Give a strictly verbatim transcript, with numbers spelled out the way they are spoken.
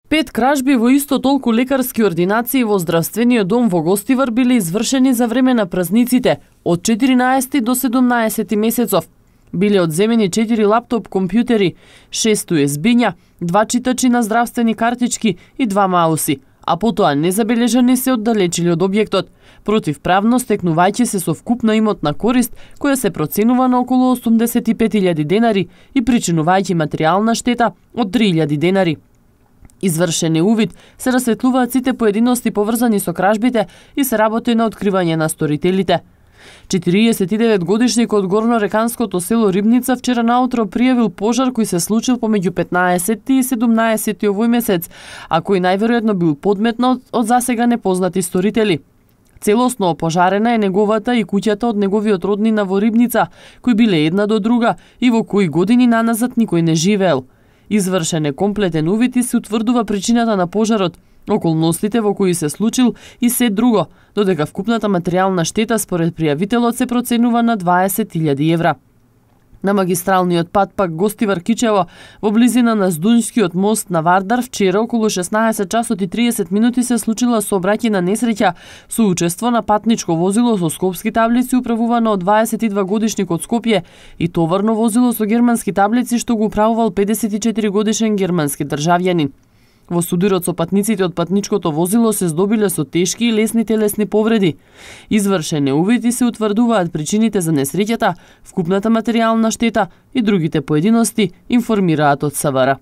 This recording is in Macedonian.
Пет кражби во исто толку лекарски ординации во здравствениот дом во Гостивар биле извршени за време на празниците од четиринаесети до седумнаесети месецов. Биле одземени четири лаптоп компјутери, шест ю ес би-ња, два читачи на здравствени картички и два мауси, а потоа незабележани се оддалечили од објектот, противправно стекнувајќи се со вкупна имотна корист која се проценува на околу осумдесет и пет илјади денари и причинувајќи материјална штета од три илјади денари. Извршен е увид, се расветлуваат сите поединости поврзани со кражбите и се работи на откривање на сторителите. четириесет и девет годишникот од горнореканското село Рибница вчера наутро пријавил пожар кој се случил помеѓу петнаесети и седумнаесети овој месец, а кој најверојатно бил подметнат од засега непознати сторители. Целосно опожарена е неговата и куќата од неговиот роднина во Рибница, кои биле една до друга и во кои години наназад никој не живеел. Извршен е комплетен увид и се утврдува причината на пожарот, околностите во кои се случил и се друго, додека вкупната материјална штета според пријавителот се проценува на дваесет илјади евра. На магистралниот пат пак Гостивар-Кичево, во близина на Здунјскиот мост на Вардар, вчера околу шеснаесет часот и триесет минути се случила сообраќајна несреќа со учество на патничко возило со скопски таблици управувано од дваесет и два годишник од Скопје и товарно возило со германски таблици што го управувал педесет и четири годишен германски државјанин. Во судирот со патниците од патничкото возило се здобиле со тешки и лесни телесни повреди. Извршен е увид и се утврдуваат причините за несреќата, вкупната материјална штета и другите поединости, информираат од СВР.